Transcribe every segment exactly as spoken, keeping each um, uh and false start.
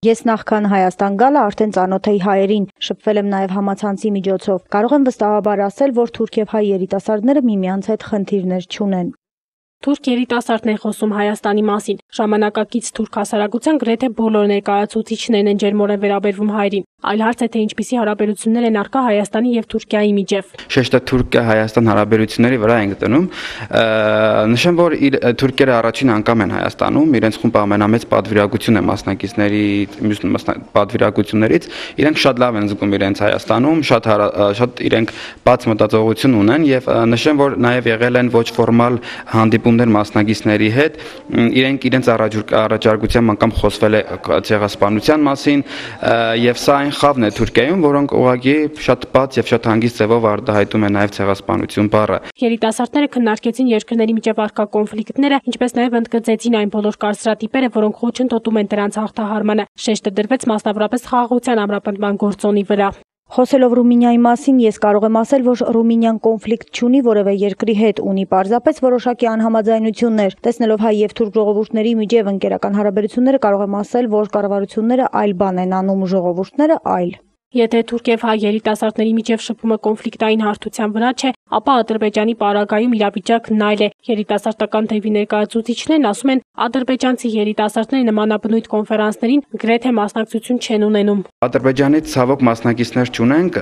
Ես նախքան Հայաստան գալը արդեն ծանոթ էի հայերին, շփվել եմ նաև համացանցի միջոցով։ Կարող եմ վստահաբար ասել, որ թուրք եւ հայ երիտասարդները միմյանց հետ խնդիրներ չունեն։ Թուրք երիտասարդն է խոսում Հայաստանի մասին։ Ժամանակակից թուրք հասարակության գրեթե բոլոր ներկայացուցիչներն են ջերմորեն վերաբերվում հայերին։ Այլ հարց է, թե ինչպիսի հարաբերություններ են առկա Հայաստանի եւ Թուրքիայի միջև։ Շեշտը Թուրքիա-Հայաստան հարաբերությունների վրա ենք դնում։ Նշեմ, որ թուրքերը առաջին անգամ են Հայաստանում, իրենց խումբը ամենամեծ պատվիրակություն է մասնակիցների մյուս պատվիրակություններից։ Իրենք շատ լավ են զգում իրենց Հայաստանում, շատ շատ իրենք բաց մտածողություն ունեն եւ նշեմ, որ նաեւ եղել են ոչ ֆորմալ հանդիպումներ մասնակիցների հետ, իրենք իրենց առաջարկությամբ անգամ խոսվել է ցեղասպանության մասին եւ սա այն խավն է Թուրքիայում, որոնք ուղղակի շատ բաց եւ շատ հանգիստ ձևով արտահայտում են նաեւ ցեղասպանություն բառը։ Երիտասարդները քննարկեցին երկրների միջև առկա կոնֆլիկտները, ինչպես նաեւ ընդգծեցին այն բոլոր կարծրատիպերը, որոնք խոչընդոտում են դրանց հաղթահարմանը։ Շեշտը դրվեց մասնավորապես խաղաղության ամրապնդման գործոնի վրա։ Խոսելով Ռումինիայի մասին, ես կարող եմ ասել, որ Ռումինիան կոնֆլիկտ չունի որևէ երկրի հետ, ունի պարզապես որոշակի անհամաձայնություններ։ Տեսնելով հայ եւ թուրք ժողովուրդների միջև ընկերական հարաբերությունները, կարող եմ ասել, որ կառավարությունները այլ բան են անում, ժողովուրդները այլ։ Եթե թուրք եւ հայ երիտասարդների միջև շփումը կոնֆլիկտային հարթության վրա չէ, ապա Ադրբեջանի պարագայում իրավիճակն այլ է։ Երիտասարդական թևի ներկայացուցիչներն ասում են, ադրբեջանցի երիտասարդները նմանաբնույթ կոնֆերանսներին գրեթե մասնակցություն չեն ունենում։ Ադրբեջանից ցավոք մասնակիցներ չունենք,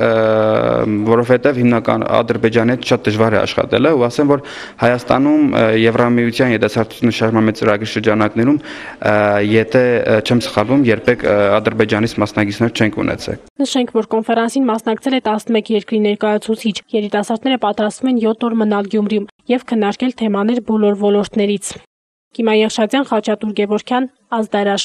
որովհետեւ հիմնական Ադրբեջանից շատ դժվար է աշխատելը, ու ասեմ, որ Հայաստանում Եվրամիության երիտասարդությունը շարժման ծրագրի շրջանակներում, եթե չեմ սխալվում, երբեք Ադրբեջանից մասնակիցներ չենք ունեցել։ Նշենք, որ կոնֆերանսին մասնակցել է տասնմեկ երկրի ներկայացուցիչ։ Երիտասարդները պատրաստվում են յոթ օր մնալ Գյումրիում եւ քննարկել թեմաներ բոլոր ոլորտներից։ Կիմա Եղշատյան, Խաչատուր Գևորգյան, Ազդարաշ։